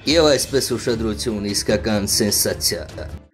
Եվ այսպես ուշադրություն իսկական սենսացիա։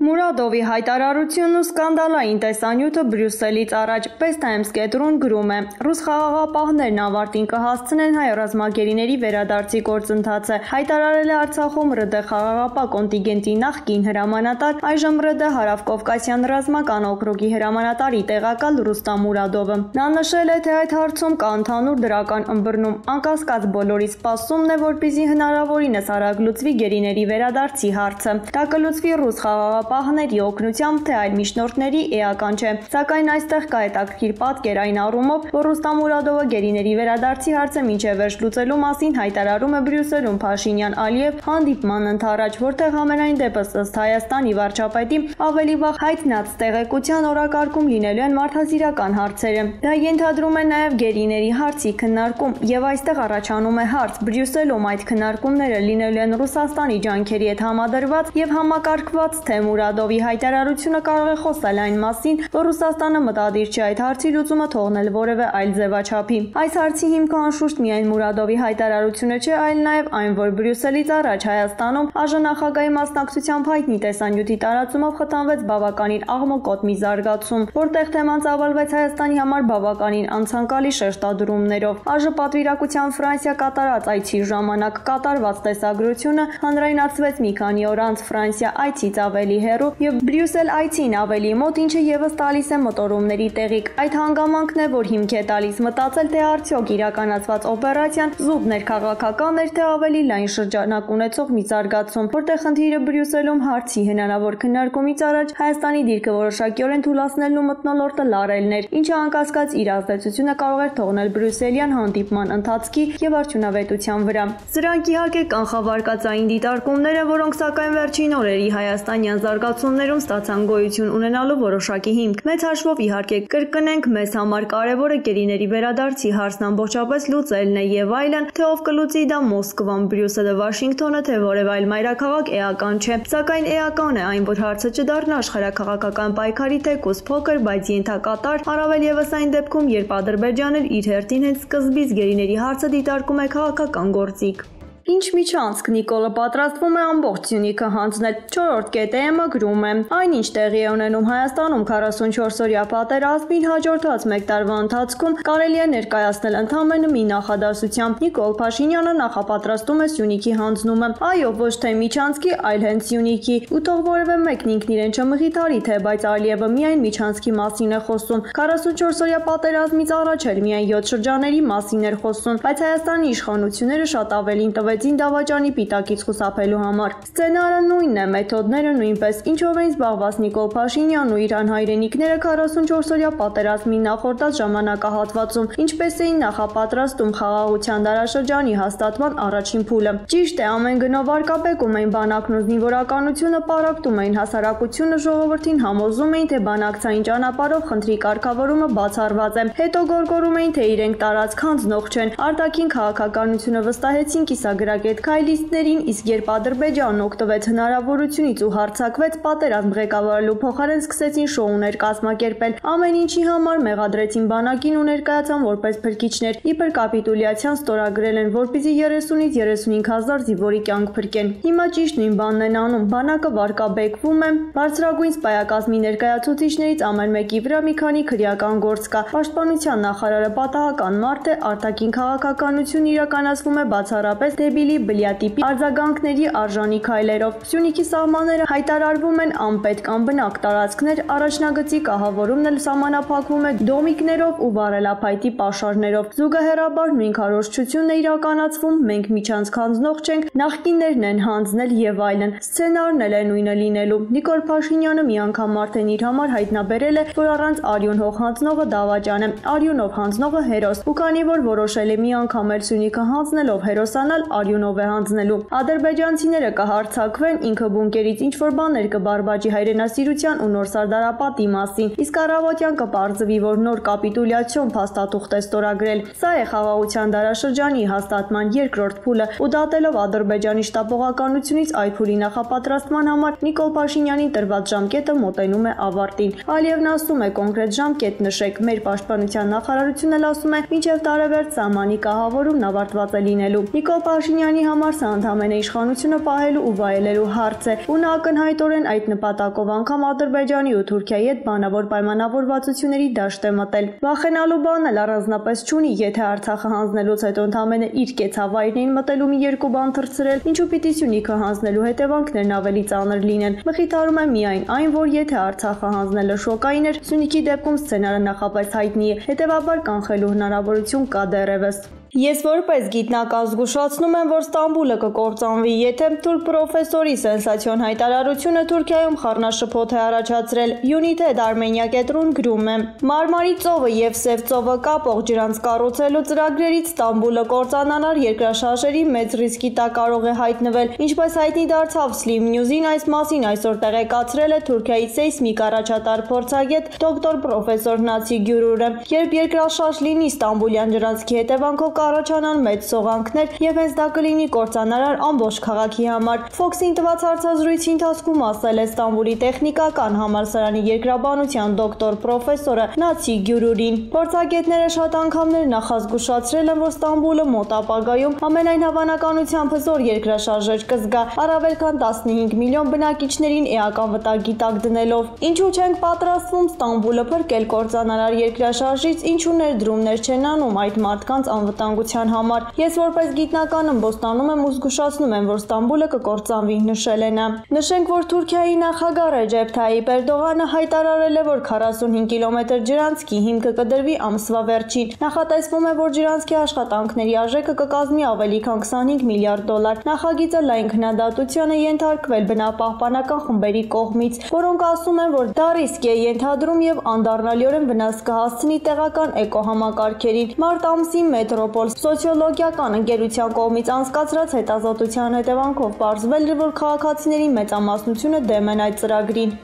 Մուրադովի հայտարարությունն ու սկանդալային տեսանյութը Բրյուսելից առաջ Pest Times կետրոն գրում է. ռուս խաղաղապահներն ավարտին կհասցնեն հայ ռազմագերիների վերադարձի գործընթացը։ Հայտարարել է Արցախում ՌԴ խաղաղապահ կոնտինգենտի նախկին հրամանատար, այժմ ՌԴ Հարավկովկասյան ռազմական օկրուգի հրամանատարի տեղակալ Ռուստամ Մուրադովը։ Նա նշել է, թե այդ հարցում կա ընդհանուր դրական ըմբռնում, անկասկած բոլորի սպասումն է, որպեսզի հնարավորինս արագ լուծվի գերիների վերադարձի հարցը։ Դա կլուծվի ռուս խաղաղապահների օգնությամբ, թե այլ միջնորդների էական չէ։ Սակայն այստեղ կա հետաքրքիր պատկեր այն առումով, որ Ռուստամ Մուրադովը գերիների վերադարձի հարցը մինչև վերջ լուծելու մասին հայտարարում է Բրյուսելում Փաշինյան-Ալիև հանդիպման ընթരാճ, որտեղ համենայն դեպս ըստ Հայաստանի վարչապետի ավելի վաղ հայտնած տեղեկության օրակարգում լինելու են մարդասիրական հարցերը։ Դա ենթադրում է նաև գերիների հարցի քննարկում, եւ այստեղ առաջանում է հարց. Բրյուսելում այդ քննարկումները լինելու են Ռուսաստանի ջանքերի հետ համադրված եւ համակարգված, թե Մուրադովի հայտարարությունը կարող է խոսալ այն մասին, որ Ռուսաստանը մտադիր չէ այդ հարցի լուծումը թողնել որևէ այլ ձևաչափի։ Այս հարցի հիմքը անշուշտ միայն Մուրադովի հայտարարությունը չէ, այլ նաև այն, որ Բրյուսելից առաջ Հայաստանում ԱԺ նախագահի մասնակցությամբ հայտնի տեսանյութի տարածումով խթանվեց բավականին աղմկոտ մի զարգացում, որտեղ թեման ծավալվեց Հայաստանի համար բավականին անցանկալի շեշտադրումներով։ ԱԺ պատվիրակության Ֆրանսիա կատարած այցի ժամանակ կատարված տեսագրությունը հանրայնացվեց մի քանի օր անց Ֆրանսիա այցից ավելի հեռու եւ Բրյուսել այցին ավելի մոտ, ինչը եւս տալիս է մոտորումների տեղիք։ Այդ հանգամանքն է, որ հիմք է տալիս մտածել, թե արդյոք իրականացված օպերացիան զուտ ներքաղաքական էր, թե ավելի լայն շրջանակ ունեցող մի զարգացում, որտեղ խնդիրը Բրյուսելում հարցի հնարավոր քննարկումից առաջ Հայաստանի դիրքը որոշակիորեն թուլացնելն ու մթնոլորտը լարելն էր, ինչը անկասկած իր ազդեցությունը կարող էր թողնել Բրյուսելյան հանդիպման ընթացքի եւ արդյունավետության վրա։ Սրանք իհարկե կանխավարկածային դիտարկումներ են, որոնք սակայն վերջին օրերի հայաստանյան զարգացումներում ստացան գոյություն ունենալու որոշակի հիմք։ Մեծ հաշվով իհարկե կրկնենք, մեզ համար կարևորը գերիների վերադարձի հարցն ամբողջապես լուծելն է եւ այլն, թե ով կլուծի դա Մոսկվան, Բրյուսելը, Վաշինգտոնը, թե որևէ այլ մայրաքաղաք էական չէ։ Սակայն էական է այն, որ հարցը չդառնա աշխարհաքաղաքական պայքարի թեկուզ փոքր, բայց ենթակատար, առավել եւս այն դեպքում, երբ Ադրբեջանն իր հերթին հենց սկզբից գերիների հարցը դիտարկում է քաղաքական գործիք։ Ինչ միջանցք Նիկոլը պատրաստվում է ամբողջ Սյունիքը հանձնել։ 4-րդ կետը գրում է. այնինչ տեղի է ունենում Հայաստանում 44-օրյա պատերազմին հաջորդած մեկ տարվա ընթացքում կարելի է ներկայացնել ընդամենը մի նախադասությամբ. Նիկոլ Փաշինյանը նախապատրաստում է Սյունիքի հանձնումը։ Այո, ոչ թե միջանցքի, այլ հենց Սյունիքի։ Ու թող որևէ մեկն ինքն իրեն չմղիթարի, թե բայց Ալիևը միայն միջանցքի մասին է խոսում։ 44-օրյա պատերազմից առաջ էլ միայն 7 շրջանների մասին էր խոսում, բայց Հայաստանի իշխանությունները շատ ավելին տվեցին դավաճանի պիտակից խուսափելու համար։ Սցենարը նույնն է, մեթոդները նույնպես, ինչով էին զբաղված Նիկոլ Փաշինյանն ու իր անհայրենիքները 44-օրյա պատերազմի նախորդած ժամանակահատվածում, ինչպես էին նախապատրաստում խաղաղության դարաշրջանի հաստատման առաջին փուլը։ Ճիշտ է, ամեն գնով արկաբեկում էին բանակն ու զինվորականությունը, պարապտում էին հասարակությունը, ժողովրդին համոզում էին, թե բանակցային ճանապարհով խնդրի կարգավորումը բացառված է։ Հետո գոռգոռում էին, թե իրենք տարածք հանձնող չեն։ Արտաքին քաղաքականությունը վստահեցին կիսագրագետ քայլիստներին, իսկ երբ Ադրբեջանն օգտվեց հնարավորությունից ու հարձակվեց, պատերազմ ղեկավարելու փոխարեն սկսեցին շոուներ կազմակերպել։ Ամեն ինչի համար մեղադրեցին բանակին ու ներկայացան որպես փրկիչներ։ Իբր կապիտուլյացիան ստորագրել են, որպեսզի 30-ից 35,000 զինվորի կյանք փրկեն։ Հիմա ճիշտ նույն բանն են անում։ Բանակը վարկաբեկվում է, բարձրագույն սպայակազմի ներկայացուցիչներից ամեն մեկի վրա մի քանի քրեական գործ կա։ Պաշտպանության նախարարը պատահական մարդ է, արտաքին քաղաքականություն իրականացվում է բացառապես դեբիլի բլյատիպի արձագանքների արժանի քայլերով։ Սյունիքի սահմանները հայտարարվում են անպետք անբնակ տարածքներ, առաջնագծի կահավորումն էլ սահմանափակվում է դոմիկներով ու վառելափայտի պաշարներով։ Զուգահեռաբար նույն քարոզչությունն է իրականացվում, մենք միջանցք հանձնող չենք, նախկիններն են հանձնել եւ այլն։ Սցենարն էլ է նույնը լինելու։ Նիկոլ Փաշինյանը մի անգամ արդեն իր համար հայտնաբերել է, որ առանց արյուն հող հանձնողը դավաճան է, արյունով հանձնողը հերոս։ Ու քանի որ որոշել է մի անգամ էլ Սյունիքը հանձնելով հերոսանալ, արյունով է հանձնելու։ Ադրբեջանցիները կհարձակվեն, ինքը բունկերից ինչ որ բաներ կբարբաջի հայրենասիրության ու նոր Սարդարապատի մասին, իսկ առավոտյան կպարզվի, որ նոր կապիտուլյացիոն փաստաթուղթ է ստորագրել։ Սա է խաղաղության դարաշրջանի հաստատման երկրորդ փուլը, ու դատելով Ադրբեջանի շտապողականությունից այդ փուլի նախապատրաստման համար Նիկոլ Փաշինյանին տրված ժամկետը մոտենում է ավարտին։ Ալիևն ասում է կոնկրետ ժամկետ նշեք, մեր պաշտպանության նախարարությունն էլ ասում է մինչև տարեվերջ սահմանի կահավորումն ավարտված է լինելու։ Նիկոլ Փաշինյանի համար սա ընդամենը իշխանությունը պահելու ու վայելելու հարց է, ու նա ակնհայտորեն այդ նպատակով անգամ Ադրբեջանի ու Թուրքիայի հետ բանավոր պայմանավորվածությունների դաշտ է մտել։ Վախենալու բան էլ առանձնապես չունի, եթե Արցախը հանձնելուց հետո ընդամենը իր կեցավայրին մտելու մի երկու բան թռցրել, ինչու պիտի Սյունիքը հանձնելու հետևանքներն ավելի ծանր լինեն։ Մխիթարում է միայն այն, որ եթե Արցախը հանձնելը շոկային էր, Սյունիքի դեպքում սցենարը նախապես հայտնի է, հետևաբար կանխելու հնարավորություն կա դեռևս։ Ես որպես գիտնական զգուշացնում եմ, որ Ստամբուլը կկործանվի, եթե թուրք պրոֆեսորի սենսացիոն հայտարարությունը Թուրքիայում խառնաշփոթ է առաջացրել։ Unit-ed Armenia կետրոն գրում է. Մարմարի ծովը եւ Սև ծովը կապող ջրանց կառուցելու ծրագրերից Ստամբուլը կործանանար երկրաշարժերի մեծ ռիսկի տակ կարող է հայտնվել, ինչպես հայտնի դարձավ Slim News-ին այս մասին այսօր տեղեկացրել է Թուրքիայի սեյսմիկ առաջատար փորձագետ դոկտոր պրոֆեսոր Նացի Գյուրուրը։ Երբ երկրաշարժ լինի Ստամբուլյան ջրանցքի հետևանքով առաջանան մեծ սողանքներ եւ հենց դա կլինի կործանարար ամբողջ քաղաքի համար։ Fox-ին տված հարցազրույցի ընթացքում ասել է Ստամբուլի տեխնիկական համալսարանի երկրաբանության դոկտոր պրոֆեսորը Նացի Գյուրուրին։ Փորձագետները շատ անգամներ նախազգուշացրել են, որ Ստամբուլը մոտ ապագայում ամենայն հավանականությամբ հզոր երկրաշարժեր կզգա, առավել քան 15 միլիոն բնակիչներին էական վտանգի տակ դնելով։ Ինչու չենք պատրաստվում Ստամբուլը փրկել կործանարար երկրաշարժից, ինչու ներդրումներ չեն անում այդ մարդկանց անվտանգության համար։ Ես որպես գիտնական ըմբոստանում եմ ու զգուշացնում եմ, որ Ստամբուլը կկործանվի, նշել է նա։ Նշենք, որ Թուրքիայի նախագահ Ռեջեփ Թայիպ Էրդողանը հայտարարել է, որ 45 կիլոմետր ջրանցքի հիմքը կդրվի ամսվա վերջին։ Նախատեսվում է, որ ջրանցքի աշխատանքների արժեքը կկազմի ավելի քան 25 միլիարդ դոլար։ Նախագիծը լայն քննադատության է ենթարկվել բնապահպանական խմբերի կողմից, որոնք ասում են, որ դա ռիսկ է ենթադրում եւ անդառնալիորեն վնաս կհասցնի տեղական էկոհամակարգերին։ Մարտ ամսին Մետրոպոլ սոցիոլոգիական ընկերության կողմից անցկացրած հետազոտության հետևանքով պարզվել էր, որ քաղաքացիների մեծամասնությունը դեմ են այդ ծրագրին։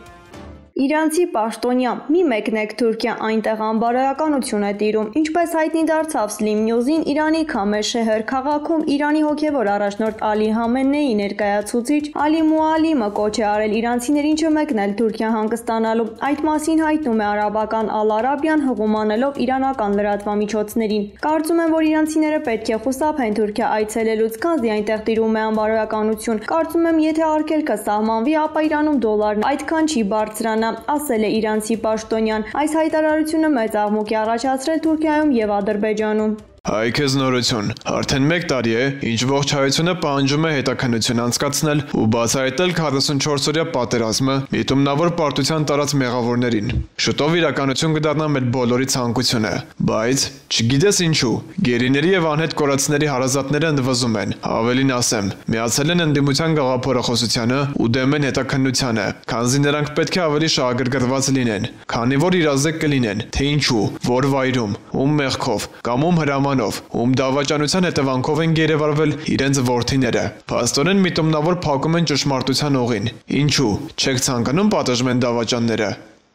Իրանցի պաշտոնյա՝ մի մեկնեք Թուրքիա, այնտեղ անբարոյականություն է տիրում։ Ինչպես հայտնի դարձավ Slim News-ին, Իրանի Քամեր շեհր քաղաքում Իրանի հոգևոր առաջնորդ Ալի Համենեի ներկայացուցիչ Ալի Մուալիմը կոչ է արել իրանցիներին չմեկնել Թուրքիա հանգստանալու։ Այդ մասին հայտնում է արաբական Ալ-Արաբիան, հղումանելով իրանական լրատվամիջոցներին։ Կարծում եմ, որ իրանցիները պետք է խուսափեն Թուրքիա այցելելուց, քանզի այնտեղ տիրում է անբարոյականություն։ Կարծում եմ, եթե արգելքը սահմանվի, ապա Իրանում դոլարն այդքան չի բարձրանա, ասել է իրանցի պաշտոնյան։ Այս հայտարարությունը մեծ աղմուկ է առաջացրել Թուրքիայում եւ Ադրբեջանում։ Հայ քեզ նորություն, արդեն 1 տարի է, ինչ ողջ հայությունը պահանջում է հետաքննություն անցկացնել ու բացահայտել 44-օրյա պատերազմը միտումնավոր պարտության տարած մեղավորներին։ Շուտով իրականություն կդառնա մեր բոլորի ցանկությունը, բայց չգիտես ինչու, գերիների եւ անհետ կորածների հարազատները ընդվզում են, ավելին ասեմ, միացել են ընդդիմության գաղափարախոսությանը ու դեմ են հետաքննությանը, քանզի նրանք պետք է ավելի շահագրգռված լինեն, քանի որ իրազեկ կլինեն, թե ինչու, որ վայրում, ում մեղքով կամ ում հրամանով, ում դավաճանության հետևանքով են գերեվարվել իրենց որդիները։ Փաստորեն միտումնավոր փակում են ճշմարտության օղին։ Ինչու, չեք ցանկանում պատժվեն դավաճանները։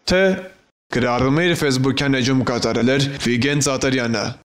Թե գրառումը իր Facebook-յան էջում կատարել էր Վիգեն Ծատարյանը։